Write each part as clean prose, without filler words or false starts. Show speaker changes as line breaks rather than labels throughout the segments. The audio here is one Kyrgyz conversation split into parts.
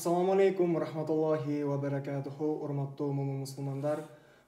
Assalamu alaikum rahmatullahi wa barakatuhu. Урматтуу мусулмандар,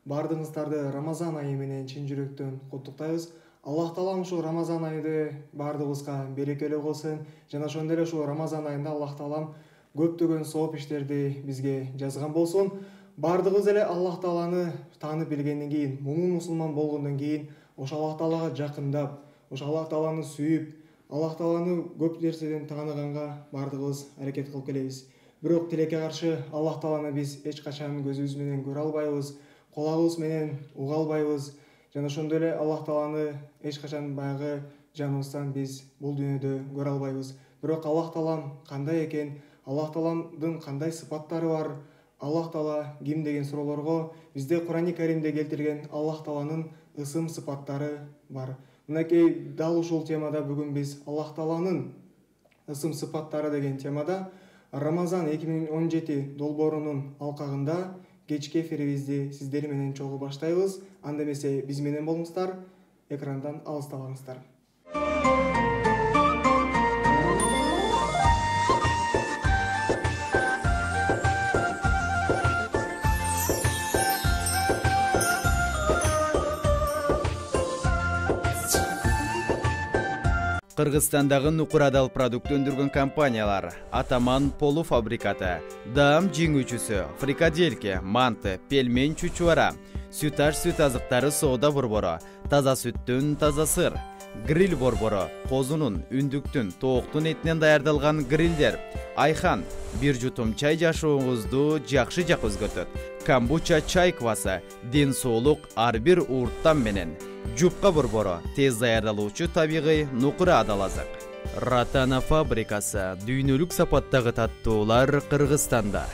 бардыгыңыздарды Рамазан айы менен чын жүрөктөн куттуктайбыз. Аллах таалам ушу Рамазан айында бардыгыбызга берекелүү кылсын. Жана ошондой эле ушу Рамазан айында Аллах таалам көптөгөн сооп иштерди бизге жазган болсун. Бардыгыбыз эле Аллах тааланы таанып билгенден кийин, мусулман болгондон кийин, ошо Аллах таалага жакындап, ошо Аллах тааланы сүйүп, Аллах тааланы көп нерседен тааныганга бардыгыбыз аракет кылып келебиз. Бирок тилекке каршы Аллах тааланы биз эч качан көзүбүз менен көрө албайбыз, кулагыбыз менен уга албайбыз. Жана ошондой эле Аллах тааланы эч качан баягы жаныбыздан биз бул дүйнөдө көрө албайбыз. Бирок Аллах таалам кандай экен, Аллах тааламдын кандай сыпаттары бар, Аллах таала ким деген суроолорго бизде Кур'ани Каримде келтирген Аллах тааланын ысым сыпаттары бар. Мынакей дал ушул темада бүгүн биз Аллах тааланын ысым сыпаттары деген темада Рамазан 2017 долбоорунун алкагында кечки эфирибизди сиздер менен чогуу баштайбыз. Анда эмесе биз менен болуңуздар, экрандан алыстабаңыздар.
Кыргызстандагы нукурадал продукт өндүргөн компаниялар: Атаман полуфабрикаты, Даам жеңүүчүсү, Фрикадельке, Манты, Пельмень чучуара, Сүташ сүт азыктары соода борбору, таза сүттүн таза сыр, гриль борбору, козунун, үндүктүн, тооктун этинен даярдалган грилдер, Айхан, бир жутум чай жашооңузду жакшы жак өзгөртөт. Камбуча чай квасы, ден соолук ар бир уурттан менен. Жупка борбору, тез даярдалуучу табигый нукура адал азык. Ратана фабрикасы, дүйнөлүк сапаттагы таттуулар Кыргызстанда.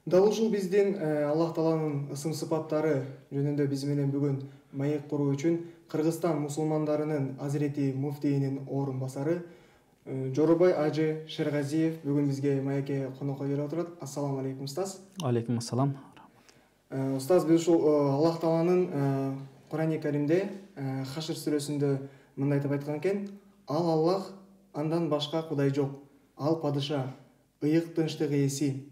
Дал ушул биздин Аллах тааланын ысым сыпаттары жөнүндө биз менен бүгүн маек куруу үчүн Кыргызстан мусулмандарынын Азирети муфтийинин орун басары Жоробай Ажы Шергазиев бүгүн бизге маекке конокко келип отурат. Ассаламу алейкум устаз.
Алейкум ассалам.
Устаз, биз ушул Аллах тааланын Кур'ани Каримде Хашр сүрөсүндө мындай деп айткан экен: Ал Аллах, андан башка кудай жок. Ал падыша, ыйык тынчтык ээси,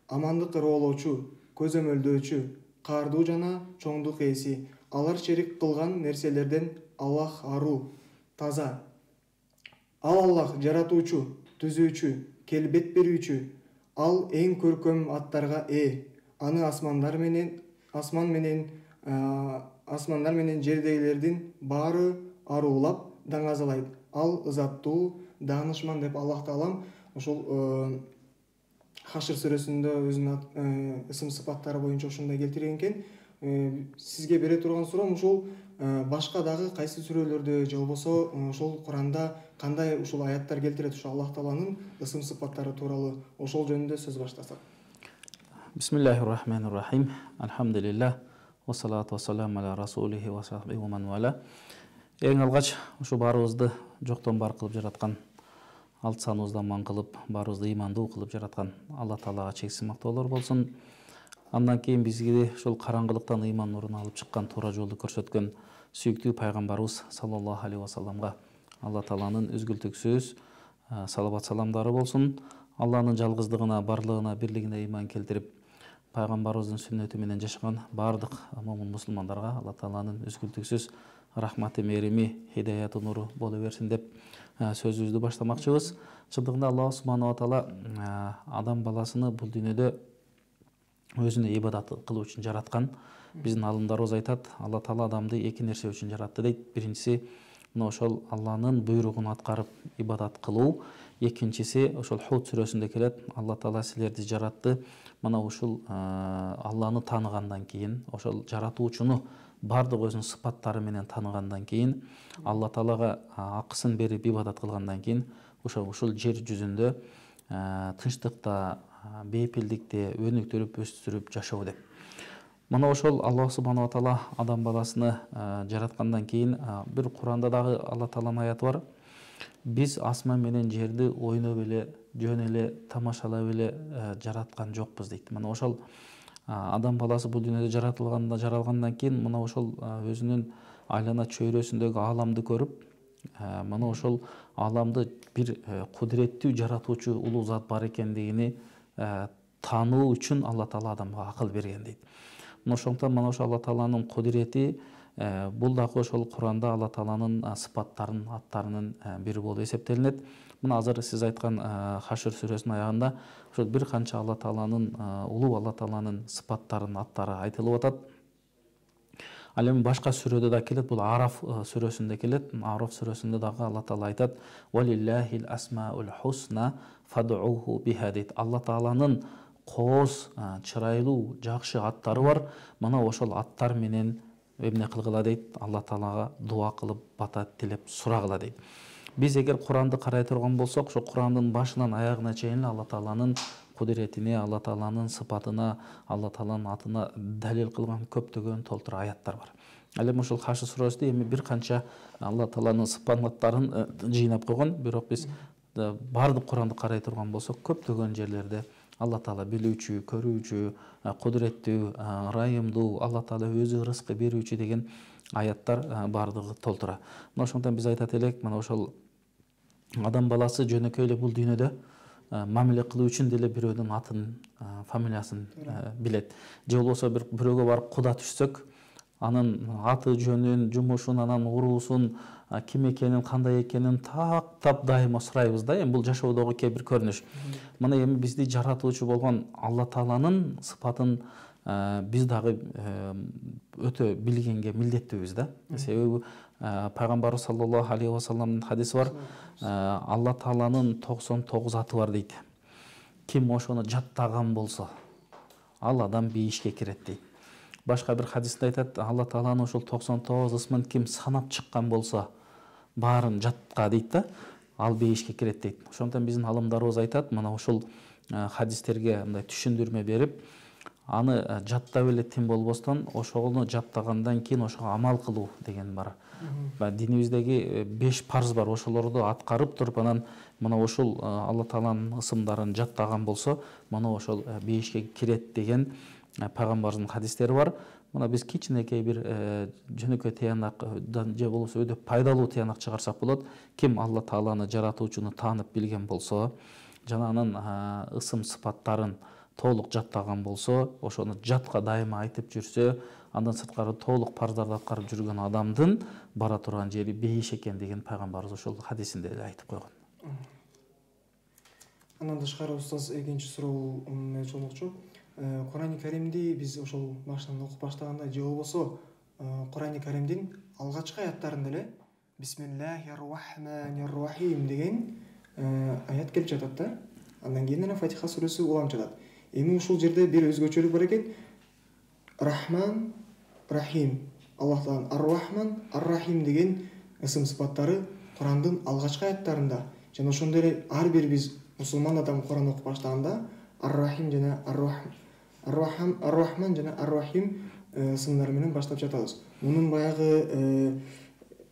амандык ыроолоочу, көзөмөлдөөчү, каардуу жана чоңдук ээси. Алар шерик кылган нерселерден Аллах аруу, таза. Ал Аллах жаратуучу, түзүүчү, келбет берүүчү. Ал эң көркөм аттарга ээ. Аны асмандар менен жердегилердин баары аруулап даңазалайт. Ал ызаттуу, даанышман деп Аллах таалам ушул Хашр сүрөсүндө өзүнүн ысым сыпаттары боюнча ушундай келтирген экен. Сизге бере турган суроом ушул башка дагы кайсы сүрөлөрдө же болбосо ушул Куранда кандай ушул аяттар келтирет ушул Аллах тааланын ысым сыпаттары тууралуу, ошол жөнүндө сөз баштасак.
Бисмиллахир-рахманир-рахим. Алхамдулиллах. Вассалату вассаламу аля расулихи ва сахбихи ва ман вала. Эң алгач ушу баарыбызды жоктон бар кылып жараткан, алты саныбызды аман кылып, баарыбызды ыймандуу кылып жараткан Алла таалага чексиз мактоолор болсун. Андан кийин бизге ушул караңгылыктан ыйман нурун алып чыккан, туура жолду көрсөткөн сүйүктүү пайгамбарыбыз саллаллаху алейхи вассаламга Алла тааланын үзгүлтүксүз салават саламдары болсун. Алланын жалгыздыгына, барлыгына, бирлигине ыйман келтирип, пайгамбарыбыздын сүннөтү менен жашаган бардык момун мусулмандарга Алла тааланын үзгүлтүксүз рахматы, мерими, хидаяты, нуру боло берсин деп сөзүбүздү баштамакчыбыз. Чындыгында Алла субханаху ва таала адам баласыны бул дүйнөдө өзүнө ибадат кылуу үчүн жараткан. Биздин алымдарыбыз айтат, Алла таала адамды эки нерсе үчүн жаратты дейт. Биринчиси мына ошол Алланын буйругун аткарып ибадат кылуу. Экинчиси ошол Худ сүрөсүндө келет: Алла таала силерди жаратты. Мына ушул Алланы тааныгандан кийин, ошол жаратуучуну бардык өзүнүн сыпаттары менен тааныгандан кийин, Алла таалага акысын берип ибадат кылгандан кийин ушул жер жүзүндө тынчтыкта, бейпилдикте өнүктүрүп, өстүрүп жашоо деп. Мына ошол Алла субханаху ва таала адам баласыны жараткандан кийин бир Куранда дагы Алла тааланын аяты бар. Биз асман менен жерди ойноп эле жөн эле тамашалап эле жараткан жокпуз дейт. Мына ошол адам баласы бул дүйнөдө жаралгандан кийин мына ошол өзүнүн айлана чөйрөсүндөгү ааламды көрүп, мына ошол ааламды бир кудуреттүү жаратуучу улуу зат бар экендигини таануу үчүн Алла Таала адамга акыл берген дейт. Мына ошондуктан мына ошол Алла Тааланын кудурети бул дагы ошол Куранда Алла Тааланын сыпаттарын, аттарынын бири болуп эсептелинет. Мына азыр сиз айткан Хашр сүрөсүнүн аягында ошол бир канча Алла Тааланын улуу Алла Тааланын сыпаттарын, аттары айтылып атат. Ал эми башка сүрөдө да келет, бул Араф сүрөсүндө келет. Араф сүрөсүндө дагы Алла Таала айтат: "Валиллахил асмаул хусна фад'уху биха" дейт. Алла Тааланын кооз, чырайлуу, жакшы аттары бар. Мына ошол аттар менен эмне кылгыла дейт? Алла Таалага дуа кылып, бата тилеп сурагыла дейт. Биз эгер Куранды карай турган болсок, ошо Курандын башынан аягына чейин Алла Тааланын кудуретине, Алла Тааланын сыпатына, Алла Тааланын атына далил кылган көптөгөн толтура аяттар бар. Ал эми ошол Хашр сүрөсүндө эми бир канча Алла Тааланын сыпаттарын жыйнап койгон, бирок биз баардык Куранды карай турган болсок, көптөгөн жерлерде Алла Таала билүүчү, көрүүчү, кудуреттүү, ырайымдуу, Алла Таала өзү рызкы берүүчү деген аяттар баардыгы толтура. Мына ошондон биз айтат элек, мына ошол адам баласы жөнөкөй эле бул дүйнөдө мамиле кылуу үчүн деле бирөөнүн атын, фамилиясын билет. Же болбосо бирөөгө барып куда түшсөк, анын аты жөнүн, жумушун, анан уруусун, ким экенин, кандай экенин тактап дайыма сурайбыз да. Эми бул жашоодогу кээ бир көрүнүш. Мына эми бизди жаратуучу болгон Алла Тааланын сыпатын биз дагы өтө билгенге милдеттүүбүз да. Себеби пайгамбарыбыз саллаллаху алейхи вассаламдын хадиси бар. Алла Тааланын 99 аты бар дейт. Ким ошону жаттаган болсо, ал адам бейишке кирет дейт. Башка бир хадисте айтат, Алла Тааланын ошол 99 ысмын ким санап чыккан болсо, баарын жатка дейт да, ал бейишке кирет дейт. Ошондон биздин алымдарыбыз айтат, мына ошол хадистерге мындай түшүндүрмө берип, аны жаттап эле тим болбостон, ошону жаттагандан кийин ошого амал кылуу деген бар. Динибиздеги 5 парз бар, ошолорду аткарып туруп, анан мына ошол Алла Тааланын ысымдарын жаттаган болсо, мына ошол бейишке кирет деген пайгамбарыбыздын хадистери бар. Мына биз кичинекей бир жөнөкөй тыянактан же болбосо өтө пайдалуу тыянак чыгарсак болот. Ким Алла Тааланы жаратуучуну таанып билген болсо, жана анын ысым сыпаттарын толук жаттаган болсо, ошону жатка дайыма айтып жүрсө, андан сырткары толук парздарды аткарып жүргөн адамдын бара турган жери бейиш экендигин пайгамбарыбыз ошол хадисинде эле айтып койгон.
Андан тышкары устаз экинчи суроо болчу. Курани Каримди биз ошол башынан окуп баштаганда же болбосо Курани Каримдин алгачкы аяттарында эле Бисмиллахир рахманир рахим деген аят келип жатат да. Андан кийин эле Фатиха сүрөсү улам жатат. Эми ушул жерде бир өзгөчөлүк бар экен. Рахман, Рахим. Аллах Тааланын Ар-Рахман, Ар-Рахим деген ысым сыпаттары Курандын алгачкы аяттарында. Жана ошондой эле ар бир биз мусулман адам Куран окуп баштаганда Ар-Рахим жана Ар-Рахман жана Ар-Рахим ысымдары менен баштап жатабыз. Мунун баягы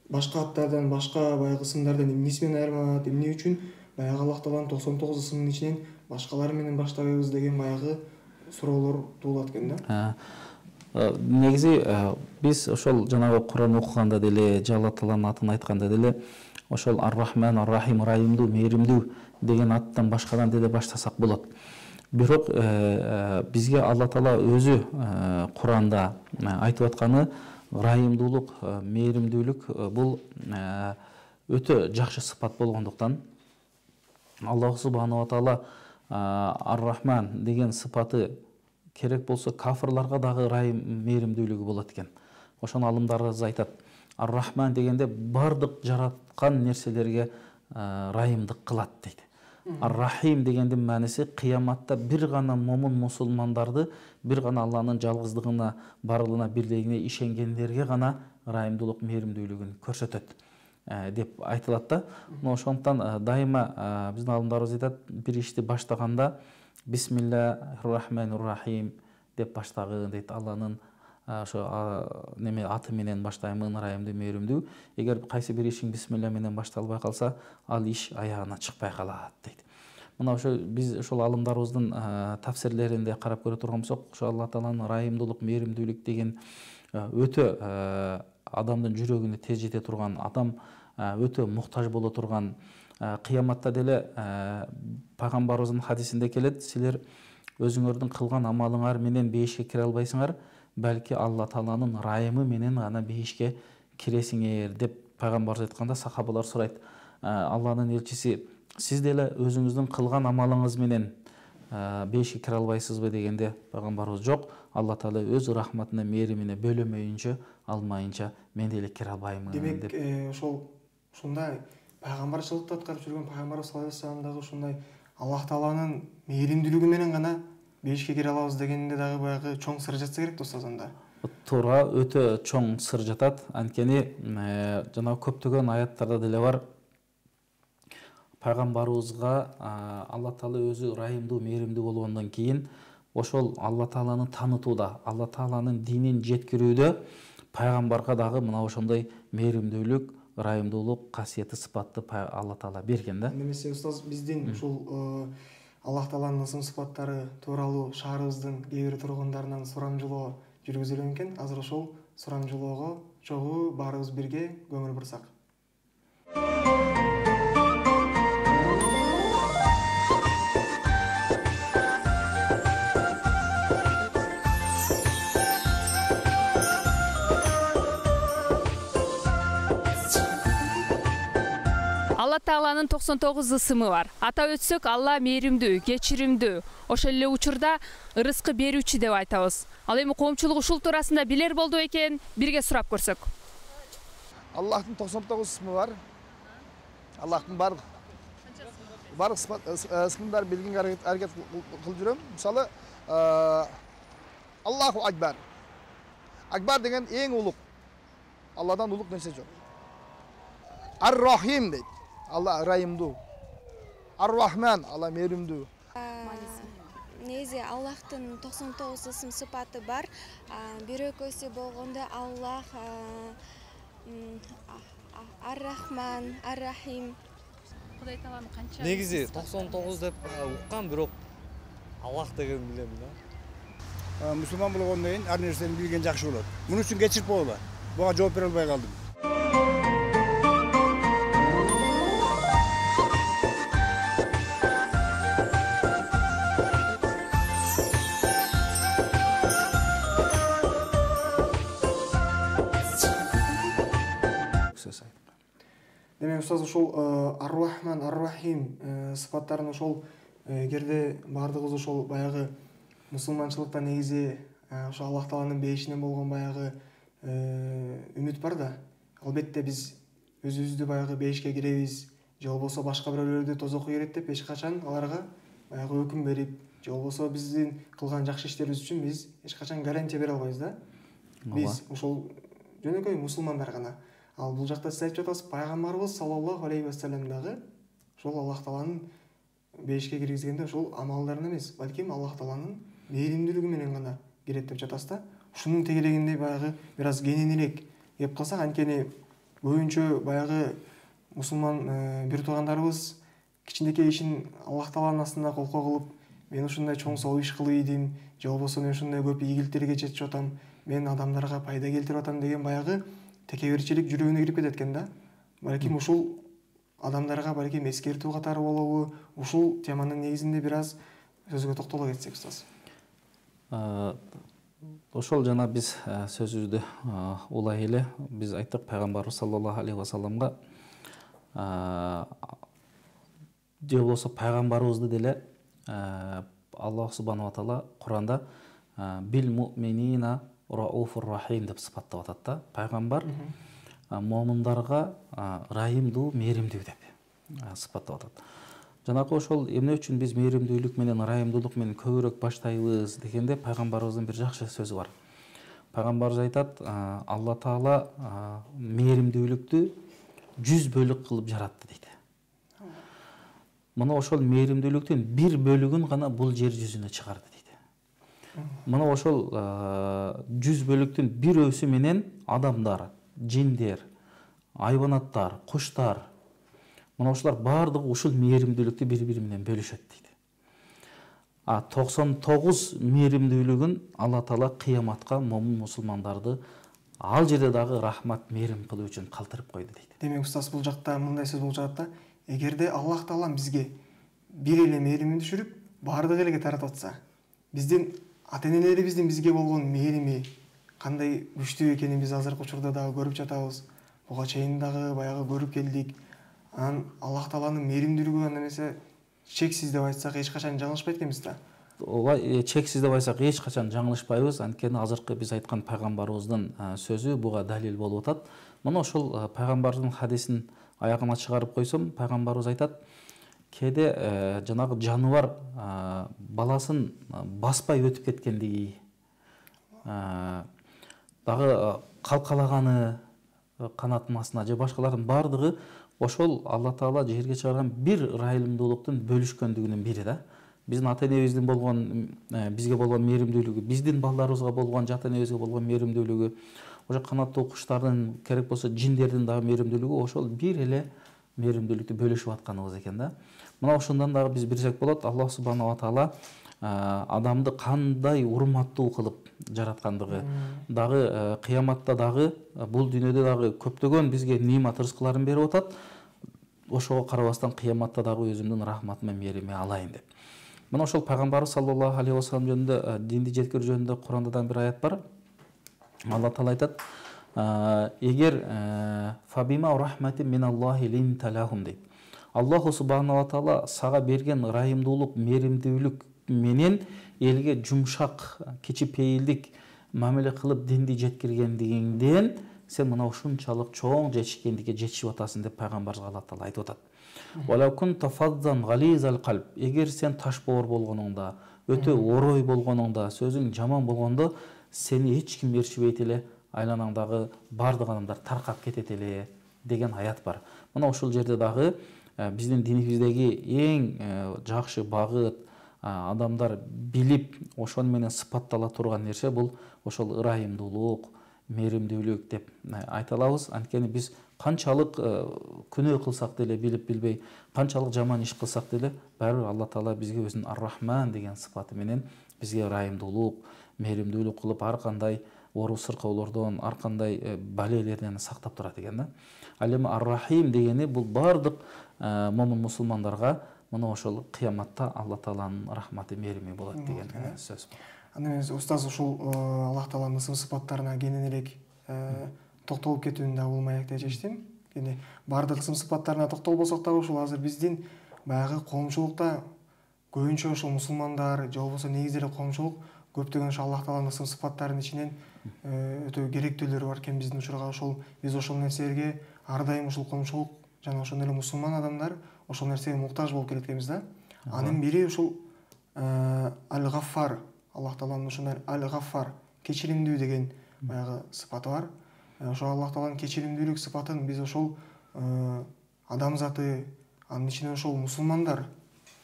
башка аттардан, башка баягы ысымдардан эмнеси менен айырмаланат, эмне үчүн баягы Аллах Тааланын 99 ысымынын ичинен башкалары менен баштабайбыз деген баягы суроолор туулат экен да.
Негизи биз ошол жанагы Куран окуганда деле, Алла Тааланын атын айтканда деле ошол Ар-Рахман, Ар-Рахим, ырайымдуу, мээримдүү деген аттан башкадан деле баштасак болот. Бирок бизге Алла Таала өзү Куранда айтып атканы ырайымдуулук, мээримдүүлүк бул өтө жакшы сыпат болгондуктан Аллах субханаху ва таала Ар-Рахман деген сыпаты керек болсо кафырларга дагы ырайым, мээримдүүлүгү болот экен. Ошону алымдарыбыз айтат. Ар-Рахман дегенде бардык жараткан нерселерге ырайымдык кылат дейт. Ар-Рахим дегендин мааниси кыяматта бир гана момун мусулмандарды, бир гана Алланын жалгыздыгына, барлыгына, бирлигине ишенгендерге гана ырайымдуулук, мээримдүүлүгүн көрсөтөт деп айтылат да. Ошондуктан дайыма биздин алымдарыбыз айтат, бир ишти баштаганда Бисмиллахир рахманир рахим деп баштагы дейт. Алланын ошо неме аты менен баштаймын, ырайымдуу, мээримдүү. Эгер кайсы бир ишиң бисмилля менен башталбай калса, ал иш аягына чыкпай калат дейт. Мына ошо биз ошол алымдарыбыздын тафсирлеринде карап көрө турган болсок, ошо Алла Тааланын ырайымдуулук, мээримдүүлүк деген өтө адамдын жүрөгүнө тез жете турган, адам өтө муктаж боло турган, кыяматта деле пайгамбарыбыздын хадисинде келет, силер өзүңөрдүн кылган амалыңар менен бейишке кире албайсыңар, балки Алла Тааланын ырайымы менен гана бейишке киресиңер деп пайгамбарыбыз айтканда, сахабалар сурайт: Алланын элчиси, сиз деле өзүңүздүн кылган амалыңыз менен бейишке кире албайсызбы дегенде, пайгамбарыбыз жок, Алла Таала өз рахматына, мээримине бөлөмөйүнчө, алмайынча мен деле кире албаймын деп.
Демек, ушундай пайгамбарчылыкты аткарып жүргөн пайгамбарыбыз саллаллаху алейхи вассаламдагы ушундай Аллах Тааланын мээримдүүлүгү менен гана бейишке кире алабыз дегенде дагы баягы чоң сыр жатса керек да устаз анда.
Туура, өтө чоң сыр жатат. Анткени жана көптөгөн аяттарда деле бар. Пайгамбарыбызга Алла Таала өзү ырайымдуу, мээримдүү болгондон кийин ошол Алла Тааланы таанытууда, Алла Тааланын динин жеткирүүдө пайгамбарга дагы мына ошондой мээримдүүлүк, ырайымдуулук касиети, сыпатты Алла Таала берген да.
Немесе устаз, биздин ушул Аллах Тааланын ысым сыпаттары тууралуу шаарыбыздын кээ бир тургундарынан сурамжылоо жүргүзүлгөн экен. Азыр ошол сурамжылоого чогуу баарыбыз бирге көңүл бурсак.
Алла Тааланын 99 ысымы бар. Атап өтсөк, Алла мээримдүү, кечиримдүү, ошол эле учурда ырыскы берүүчү деп айтабыз. Ал эми коомчулук ушул туурасында билер болду экен, бирге сурап көрсөк.
Аллахтын 99 ысымы бар. Аллахтын барлык ысымдарын билгенге аракет кылып жүрөм. Мисалы, Аллаху Акбар. Акбар деген эң улук. Алладан улук нерсе жок. Ар-Рахим дейт. Алла ырайымдуу. Ар-Рахман, Алла мээримдүү.
Негизи Аллахтын 99 ысым сыпаты бар. Бир экөөсү болгондо Аллах, Ар-Рахман, Ар-Рахим.
Кудай Тааланы канча?
Негизи 99 деп уккан, бирок Аллах деген билем да.
Мусулман болгондон кийин ар нерсени билген жакшы болот. Муну үчүн кечирип койгула. Буга жооп бере албай калдым.
Демек устаз, ушул Ар-Рахман, Ар-Рахим сыпаттарын ошол эгерде баардыгыбыз ошол баягы мусулманчылыкта негизи ошо Аллах Тааланын бейишинен болгон баягы үмүт бар да. Албетте биз өзүбүздү баягы бейишке киребиз, же болбосо башка бирөөлөрдү тозокко кирет деп эч качан аларга баягы өкүм берип, же болбосо биздин кылган жакшы иштерибиз үчүн биз эч качан гарантия бере албайбыз да. Биз ошол жөнөкөй мусулмандар гана. Ал бул жакта сиз айтып жатасыз, пайгамбарыбыз саллаллаху алейхи вассалам дагы ошол Аллах Тааланын бейишке киргизгенде ошол амалдарын эмес, балким Аллах Тааланын мээримдүүлүгү менен гана кирет деп жатасыз да. Ушунун тегелегинде баягы бир аз кененирээк кеп калсак, анткени көбүнчө баягы мусулман бир туугандарыбыз кичинекей ишин Аллах Тааланын астында колко кылып, мен ушундай чоң соо иш кылып ийдим, же болбосо мен ушундай көп ийгиликтерге жетип атам, мен адамдарга пайда келтирип атам деген баягы текеберчилик жүрөгүнө кирип кетет экен да. Балким ушул адамдарга балким эскертүү катары болобу, ушул теманын негизинде бир аз сөзгө токтоло кетсек устаз.
Ошол жана биз сөзүбүздү улай эле биз айттык, пайгамбарыбыз саллаллаху алейхи вассаламга же болбосо пайгамбарыбызды деле Аллах субханаху ва таала Куранда бил муъминина рауфур рахим деп сыпаттап атат да. Пайгамбар момундарга ырайымдуу, мээримдүү деп сыпаттап атат. Жанагы ошол эмне үчүн биз мээримдүүлүк менен, ырайымдуулук менен көбүрөөк баштайбыз дегенде, пайгамбарыбыздын бир жакшы сөзү бар. Пайгамбарыбыз айтат, Алла Таала мээримдүүлүктү 100 бөлүк кылып жаратты дейт. Мына ошол мээримдүүлүктүн бир бөлүгүн гана бул жер жүзүнө чыгарды дейт. Мына ошол 100 бөлүктүн бирөөсү менен адамдар, жиндер, айбанаттар, куштар, мына ошолар баардыгы ушул мээримдүүлүктү бири-бири менен бөлүшөт дейт. 99 мээримдүүлүгүн Алла Таала кыяматка момун мусулмандарды ал жерде дагы рахмат, мээрим кылуу үчүн калтырып койду дейт.
Демек устаз, бул жакта мындай сөз болуп жатат да, эгерде Аллах Таала бизге бир эле мээримин түшүрүп, баардык элге таратып атса, биздин ата-энелерибиздин бизге болгон мээрими кандай күчтүү экенин биз азыркы учурда дагы көрүп жатабыз. Буга чейин дагы баягы көрүп келдик. Анан Аллах Тааланын мээримдүүлүгү анда эмесе чексиз деп айтсак эч качан жаңылышпайт экенбиз да.
Ооба, чексиз деп айтсак эч качан жаңылышпайбыз. Анткени азыркы биз айткан пайгамбарыбыздын сөзү буга далил болуп атат. Мына ошол пайгамбардын хадисин аягына чыгарып койсом, пайгамбарыбыз айтат: кээде жанагы жаныбар баласын баспай өтүп кеткендиги, дагы калкалаганы канаттын астына же башкалардын баардыгы ошол Алла Таала жерге чыгарган бир ырайымдуулуктун бөлүшкөндүгүнүн бири да. Биздин ата-энебиздин болгон бизге болгон мээримдүүлүгү, биздин балдарыбызга болгон, ата-энебизге болгон мээримдүүлүгү, ошо канаттуу куштардын, керек болсо жиндердин дагы мээримдүүлүгү ошол бир эле мээримдүүлүктү бөлүшүп атканыбыз экен да. Мына ошондон дагы биз билсек болот, Аллах субханала таала адамды кандай урматтуу кылып жараткандыгы, дагы кыяматта дагы бул дүйнөдө дагы көптөгөн бизге нимат рызкыларын берип атат. Ошого карабастан кыяматта дагы өзүмдүн рахматым менен мээрими алайын деп. Мына ошол пайгамбарыбыз саллаллаху алейхи вассалам жөнүндө, динди жеткирүү жөнүндө Курандан бир аят бар. Алла Таала айтат: эгер фабима рахмати миналлахи линта лахум дейт. Аллаху субханала таала сага берген ырайымдуулук, мээримдүүлүк менен элге жумшак, кичипейилдик мамиле кылып динди жеткиргендигиңден сен мына ушунчалык чоң жетишкендикке жетишип атасың деп пайгамбарыбызга Алла Таала айтып атат. Валакун тафаддан гализал калб. Эгер сен ташбоор болгонуңда, өтө орой болгонуңда, сөзүң жаман болгондо сени эч ким ээрчибейт эле, айланаңдагы баардык адамдар таркап кетет эле деген аят бар. Мына ушул жерде дагы биздин динибиздеги эң жакшы багыт, адамдар билип ошону менен сыпаттала турган нерсе бул ошол ырайымдуулук, мээримдүүлүк деп айта алабыз. Анткени биз канчалык күнөө кылсак деле, билип билбей, канчалык жаман иш кылсак деле, баары бир Алла Таала бизге өзүнүн ар-рахман деген сыпаты менен бизге ырайымдуулук, мээримдүүлүк кылып ар кандай ору сыркоолордон, ар кандай балелерден сактап турат экен да. Ал эми ар-рахим дегени бул баардык момун мусулмандарга мына ошол кыяматта Алла Тааланын рахматы, мээрими болот деген сөз.
Анда эмес устаз, ушул Аллах Тааланын ысым сыпаттарына кененирээк токтолуп кетүүнү да болмай деп чечтим. Эми баардык ысым сыпаттарына токтолбосок дагы ушул азыр биздин баягы коомчулукта көбүнчө ошол мусулмандар же болбосо негизи эле коомчулук көптөгөн ошол Аллах Тааланын ысым сыпаттарынын ичинен өтө керектүүлөрү бар экен биздин учурга. Ошол биз ошол нерселерге ар дайым ушул коомчулук жана ошондой эле мусулман адамдар ошол нерсеге муктаж болуп келет экенбиз да. Анын бири ушул Аль-Гаффар, Аллах Тааланын ушундай Аль-Гаффар, кечиримдүү деген баягы сыпаты бар. Ошол Аллах Тааланын кечиримдүүлүк сыпатын биз ошол адамзаты, анын ичинен ошол мусулмандар,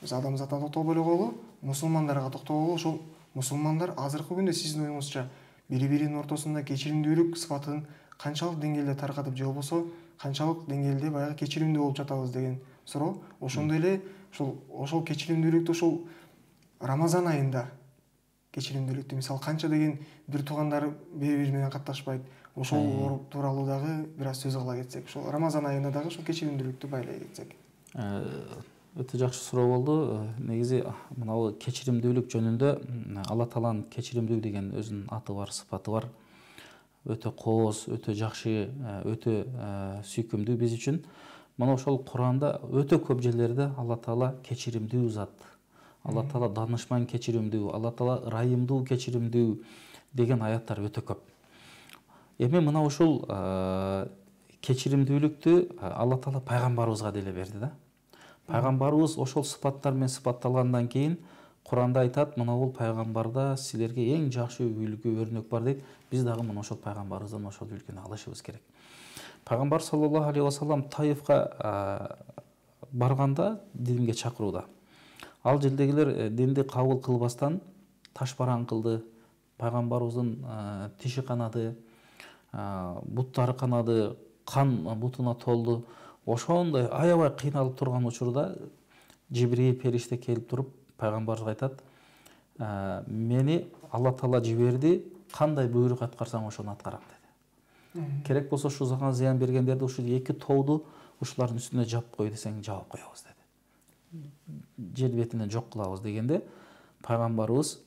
биз адамзатына токтолбой эле коелу, мусулмандарга токтололу. Ошол мусулмандар азыркы күндө сиздин оюңузча бири-биринин ортосунда кечиримдүүлүк сыпатын канчалык деңгээлде таркатып же болбосо канчалык деңгээлде баягы кечиримдүү болуп жатабыз деген суроо. Ошондой эле ошол кечиримдүүлүктү ошол Рамазан айында кечиримдүүлүктү, мисалы канча деген бир туугандар бири-бири менен катташпайт. Ошол тууралуу дагы бир аз сөз кыла кетсек, ошол Рамазан айында дагы ошол кечиримдүүлүктү байлай кетсек.
Өтө жакшы суроо болду. Негизи мына кечиримдүүлүк жөнүндө Алла Тааланын кечиримдүү деген өзүнүн аты бар, сыпаты бар. Өтө кооз, өтө жакшы, өтө сүйкүмдүү биз үчүн. Мына ошол Куранда өтө көп жерлерде Алла Таала кечиримдүү зат, Алла Таала данышман кечиримдүү, Алла Таала ырайымдуу кечиримдүү деген аяттар өтө көп. Эми мына ушул кечиримдүүлүктү Алла Таала пайгамбарыбызга деле берди да. Пайгамбарыбыз ошол сыпаттар менен сыпатталгандан кийин Куранда айтат, мына бул пайгамбарда силерге эң жакшы үлгү, өрнөк бар дейт. Биз дагы мына ошол пайгамбарыбыздан ошол үлгүнү алышыбыз керек. Пайгамбар саллаллаху алейхи вассалам Таифка барганда динге чакырууда. Ал жердегилер динди кабыл кылбастан ташбаран кылды, пайгамбарыбыздын тиши канады, буттары канады, кан бутуна толду. Ошондой аябай кыйналып турган учурда Жибрил периште келип туруп пайгамбарыбызга айтат: "Мени Алла Таала жиберди, кандай буйрук аткарсаң ошону аткарам" деди. Керек болсо ушул зага зыян бергендерди ушул 2 тооду ушулардын үстүнө жаап кой десең жаап коебуз деди. Жер бетинен жок кылабыз дегенде пайгамбарыбыз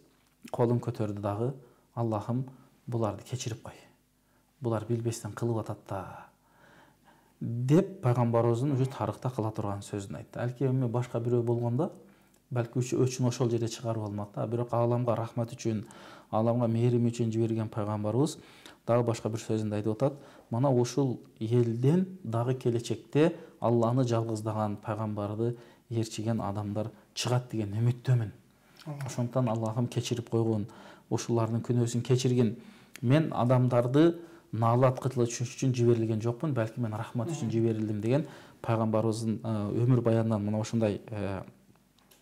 колун көтөрдү дагы: "Аллахым, буларды кечирип кой. Булар билбестен кылып атат да" деп пайгамбарыбыздын уже тарыхта кала турган сөзүн айтты. Алки эми башка бирөө болгондо балки өчүн ошол жерде чыгарып алмак да. Бирок ааламга рахмат үчүн, ааламга мээрим үчүн жиберген пайгамбарыбыз дагы башка бир сөзүндө айтып атат: "Мына ушул элден дагы келечекте Алланы жалгыздаган, пайгамбарды ээрчиген адамдар чыгат деген үмүттөмүн. Ошондуктан Аллахым кечирип койгун, ушулардын күнөөсүн кечиргин. Мен адамдарды наалат кылып үчүн жиберилген жокмун, балки мен рахмат үчүн жиберилдим" деген пайгамбарыбыздын өмүр баянынан мына ошондой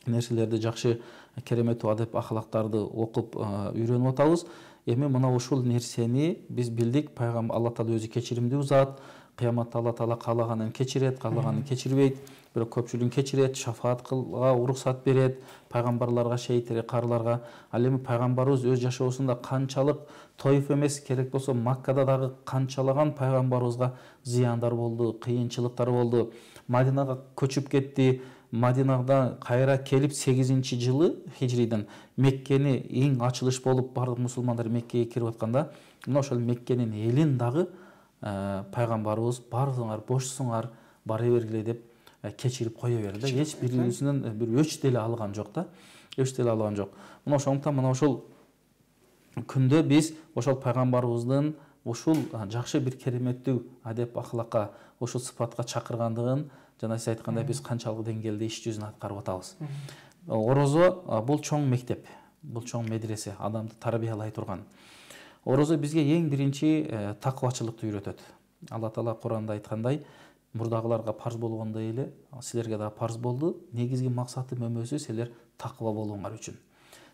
нерселерди, жакшы кереметтүү адеп ахлактарды окуп үйрөнүп атабыз. Эми мына ушул нерсени биз билдик. Пайгамбар Алла Таала өзү кечиримдүү зат. Кыяматта Алла Таала каалаганын кечирет, каалаганын кечирбейт. Бирок көпчүлүгүн кечирет, шафаат кылга уруксат берет, пайгамбарларга, шейиттер, карыларга. Ал эми пайгамбарыбыз өз жашоосунда канчалык тоюф эмес, керек болсо Маккада дагы канчалаган пайгамбарыбызга зыяндар болду, кыйынчылыктар болду. Мадинага көчүп кетти. Мадинада кайра келип 8-жылы хижриден Меккени эң ачылыш болуп бардык мусулмандар Меккеге кирип атканда, мына ошол Меккенин элин дагы пайгамбарыбыз бардыңар, бошсуңар, бара бергиле деп кечирип кое берди. Эч бирибизинен бир өч деле алган жок да. Өч деле алган жок. Мына ошондуктан мына ошол күндө биз ошол пайгамбарыбыздын ушул жакшы бир кереметтүү адеп ахлакка, ушул сыпатка чакыргандыгын жана сиз айткандай биз канчалык деңгээлде иш жүзүн аткарып атабыз. Орозо бул чоң мектеп, бул чоң медресе, адамды тарбиялай турган. Орозо бизге эң биринчи таквачылыкты үйрөтөт. Алла Таала Куранда айткандай: "Мурдагыларга парз болгондой эле силерге дагы парз болду. Негизги максатым өмөсү силер таква болууңар үчүн.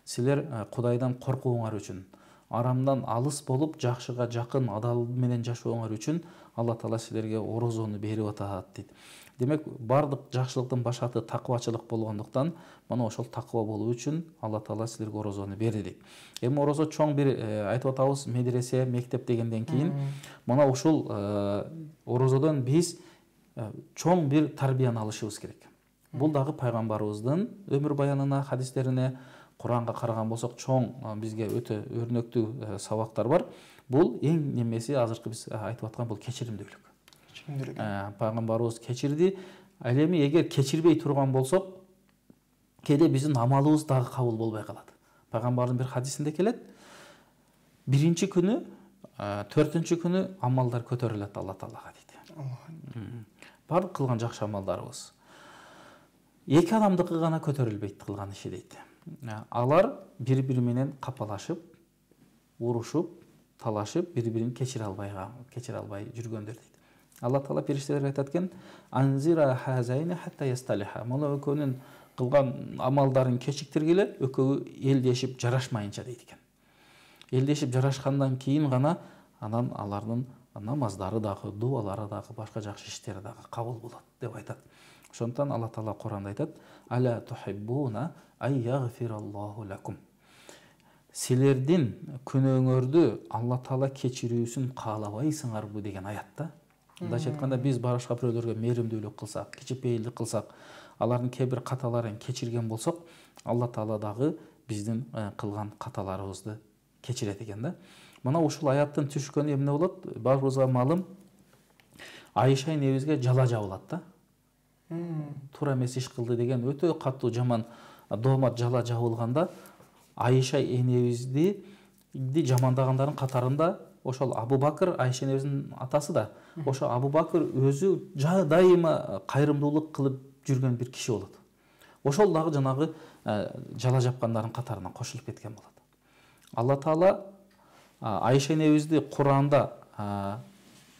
Силер Кудайдан коркууңар үчүн, арамдан алыс болуп, жакшыга жакын адал менен жашооңар үчүн Алла Таала силерге орозону берип атат" дейт. Демек, бардык жакшылыктын башаты таквачылык болгондуктан, мына ошол таква болуу үчүн Алла Таала силерге орозону берди дейт. Эми орозо чоң бир айтып атабыз, медресе, мектеп дегенден кийин, мына ушул орозодон биз чоң бир тарбияны алышыбыз керек. Бул дагы пайгамбарыбыздын өмүр баянына, хадистерине, Куранга караган болсок, чоң бизге өтө өрнөктүү сабактар бар. Бул эң немеси азыркы биз айтып аткан бул кечиримдүүлүк. Пайгамбарыбыз кечирди. Ал эми эгер кечирбей турган болсок, кээде биздин амалыбыз дагы кабыл болбой калат. Пайгамбардын бир хадисинде келет: биринчи күнү, 4-күнү күнү амалдар көтөрүлөт Алла Таалага дейт. Бардык кылган жакшы амалдарыбыз. 2 адамдыкы гана көтөрүлбөйт кылган иши дейт. Алар бири-бири менен капалашып, урушуп, талашып, бири-бирин кечире албай жүргөндөр дейт. Алла Таала периштелерге айтат экен: "Анзира хазайна хатта ясталиха". Мына экөөнүн кылган амалдарын кечиктиргиле, экөө элдешип жарашмайынча дейт экен. Элдешип жарашкандан кийин гана анан алардын намаздары дагы, дуалары дагы, башка жакшы иштери дагы кабыл болот деп айтат. Ошондуктан Алла Таала Куранда айтат: "Аля тухиббуна ай ягфираллаху лакум". Силердин күнөөңөрдү Алла Таала кечирүүсүн каалабайсыңарбы деген аятта. Мындайча айтканда, биз башка бирөөлөргө мээримдүүлүк кылсак, кичипейилдик кылсак, алардын кээ бир каталарын кечирген болсок, Алла Таала дагы биздин кылган каталарыбызды кечирет экен да. Мына ушул аяттын түшкөнү эмне болот? Баарыбызга маалым, Айша энебизге жала жабылат да. Туура эмес иш кылды деген өтө катуу жаман доомат жала жабылганда, Айша энебизди жамандагандардын катарында ошол Абу Бакыр, Айша энебиздин атасы да, ошо Абу Бакыр өзү дайыма кайрымдуулук кылып жүргөн бир киши болот. Ошол дагы жанагы жала жапкандардын катарына кошулуп кеткен болот. Алла Таала Айша энебизди Куранда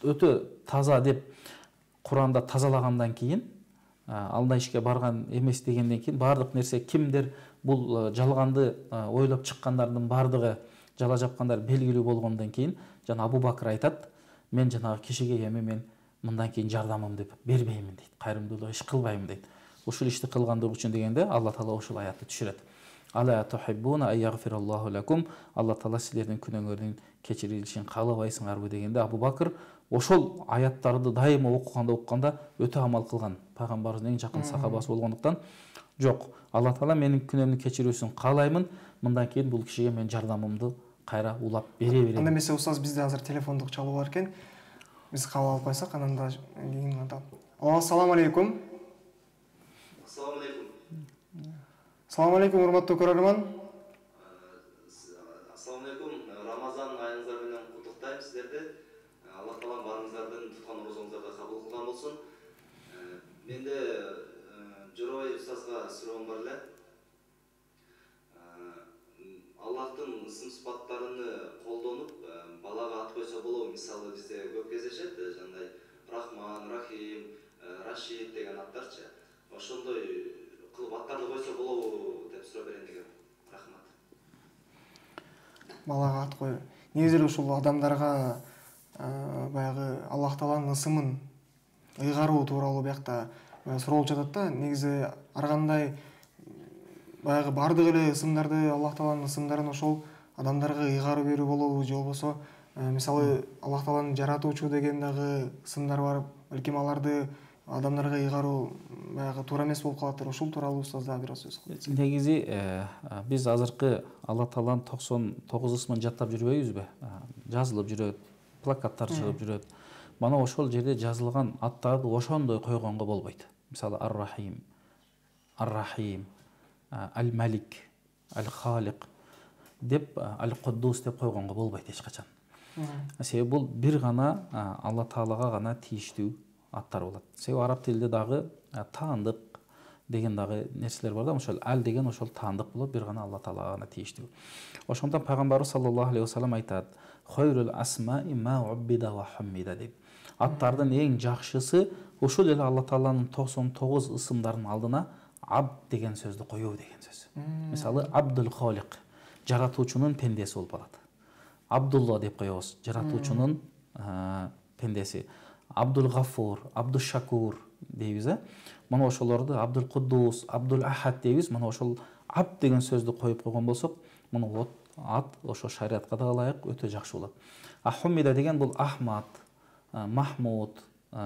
өтө таза деп Куранда тазалагандан кийин, алда ишке барган эмес дегенден кийин, бардык нерсе кимдер бул жалганды ойлоп чыккандардын баардыгы жала жапкандар белгилүү болгондон кийин жана Абу Бакр айтат, мен жанагы кишиге эми мен мындан кийин жардамымды бербеймин дейт, кайрымдуулук иш кылбайм дейт. Ушул ишти кылгандыгы үчүн дегенде Алла Таала ушул аятты түшүрөт. Ала тухиббуна айягфираллаху лакум, Алла Таала силердин күнөөңөрдүн кечирилишин каалабайсыңарбы дегенде Абу Бакр ошол аяттарды дайыма окуганда өтө амал кылган пайгамбарыбыздын эң жакын сахабасы болгондуктан, жок, Алла Таала менин күнөөмдү кечирүүсүн каалаймын, мындан кийин бул кишиге мен жардамымды кайра улап бере берем.
Анда эмесе устаз, бизде азыр телефондук чалуу бар экен. Биз кабыл алып койсок, анан да кийин атам. Ассаламу алейкум.
Ассаламу алейкум.
Ассаламу алейкум, урматтуу көрөрман.
Ассаламу алейкум. Рамазан айыңыздар менен куттуктайм сиздерди. Алла Таала барыңыздардын туткан орозоңуздарга кабыл кылган болсун. Менде Жоробай устазга суроом бар эле. Аллахтын ысым сыпаттарыны колдонуп балага ат койсо болобу? Мисалы бизде көп кездешет, жандай Рахман, Рахим, Рашид деген аттарчы. Ошондой кылып аттарды койсо болобу деп суроо берейин дегем. Рахмат.
Балага ат кой. Негизи ушул адамдарга баягы Аллах Тааланын ысымын ыйгаруу тууралуу биякта суроолуп жатат да. Негизи ар кандай баягы бардык эле ысымдарды, Аллах Тааланын ысымдарын ошол адамдарга ыйгарып берүү болобу, же болбосо мисалы Аллах Тааланын жаратуучу деген дагы ысымдар бар, балким аларды адамдарга ыйгаруу баягы туура эмес болуп калаттыр. Ушул тууралуу устаз дагы бир аз сөз кылыңыз.
Негизи биз азыркы Алла Тааланын 99 ысымын жаттап жүрбөйбүзбү? Жазылып жүрөт, плакаттар чыгып жүрөт. Мана ошол жерде жазылган аттарды ошондой койгонго болбойт. Мисалы Ар-Рахим, Ар-Рахим, Аль-Малик, Аль-Халик деп, Аль-Куддус деп койгонго болбойт эч качан. Себеби бул бир гана Алла Таалага гана тийиштүү аттар болот. Себеби араб тилинде дагы таандык деген дагы нерселер бар да, ошол ал деген ошол таандык болот, бир гана Алла Таалага гана тийиштүү. Ошондон пайгамбарыбыз саллаллаху алейхи вассалам айтат: "Хойрул асмаи ма уббида ва хаммида" деп. Аттардын эң жакшысы ошол эле Алла Тааланын 99 ысымдарынын алдына абд деген сөздү коюу деген сөз. Мисалы Абдул Халик, жаратуучунун пендеси болуп калат. Абдулла деп коебуз, жаратуучунун пендеси. Абдул Гафур, Абдул Шакур дейбиз. Мана ошолорду Абдул Куддус, Абдул Ахад дейбиз. Мана ошол абд деген сөздү коюп койгон болсок, муну ат ошо шариатка да ылайык өтө жакшы болот. Ахмида деген бул Ахмад, Махмуд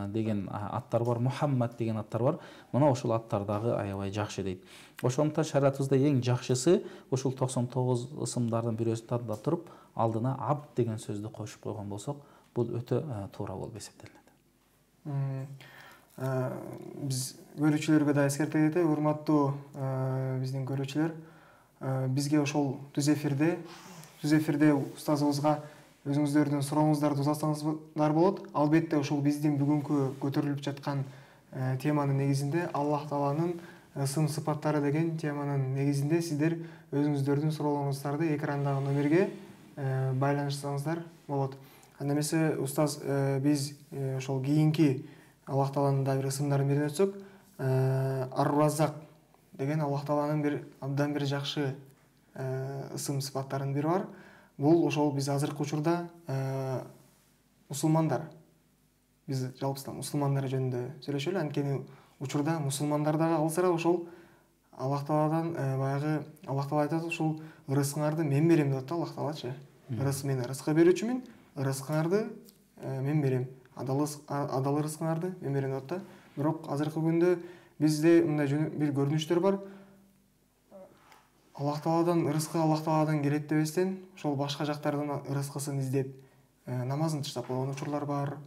деген аттар бар, Мухаммад деген аттар бар. Мына ошол аттар дагы аябай жакшы дейт. Ошондуктан шариатыбызда эң жакшысы ошол 99 ысымдардын бирөөсүн тандап туруп, алдына абд деген сөздү кошуп койгон болсок, бул өтө туура болуп эсептелет.
Биз көрүүчүлөргө да эскерте кетели, урматтуу биздин көрүүчүлөр, бизге ошол түз эфирде устазыбызга өзүңүздөрдүн сурооңуздарды узатсаңыздар болот. Албетте ошол биздин бүгүнкү көтөрүлүп жаткан теманын негизинде, Аллах Тааланын ысым сыпаттары деген теманын негизинде сиздер өзүңүздөрдүн суроолоруңуздарды экрандагы номерге байланышсаңыздар болот. Анда эмесе устаз, биз ошол кийинки Аллах Тааланын да бир ысымдарын берип өтсөк, Ар-Раззак деген Аллах Тааланын бир абдан бир жакшы ысым сыпаттарынын бири бар. Бул ошол биз азыркы учурда мусулмандар, биз жалпысынан мусулмандар жөнүндө сүйлөшөлү, анткени учурда мусулмандар дагы алсырап ошол Аллах Тааладан баягы Аллах Таала айтат, ушул ырыскыңарды мен берем деп атат Аллах Таалачы. Мен ырыскы берүүчүмүн, ырыскыңарды мен берем. Адал ырыскыңарды мен берем деп атат. Бирок азыркы күндө бизде мындай бир көрүнүштөр бар. Аллах Тааладан ырыскы Аллах Тааладан келет дебестен, ошол башка жактардан ырыскысын издеп, намазын таштап койгон учурлар бар.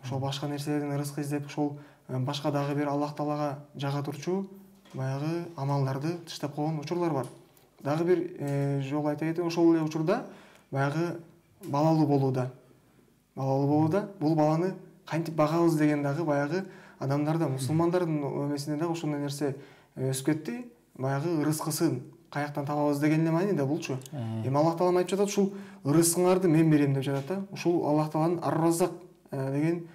Ошол башка нерселерден ырыскы издеп, ошол башка дагы бир Аллах Таалага жага турчу баягы амалдарды таштап койгон учурлар бар. Дагы бир жолу айта кетейин, ошол эле учурда баягы балалуу болууда. Бул баланы кантип багабыз деген дагы баягы адамдарда, мусулмандардын өмесинде дагы ошондой нерсе өсүп кетти. Баягы ырыскысын каяктан табабыз деген эле маани да булчу. Эми Аллах Таала айтып жатат, ушул ырыскыңарды мен берем деп жатат да. Ушул Аллах Тааланын Ар-Раззак деген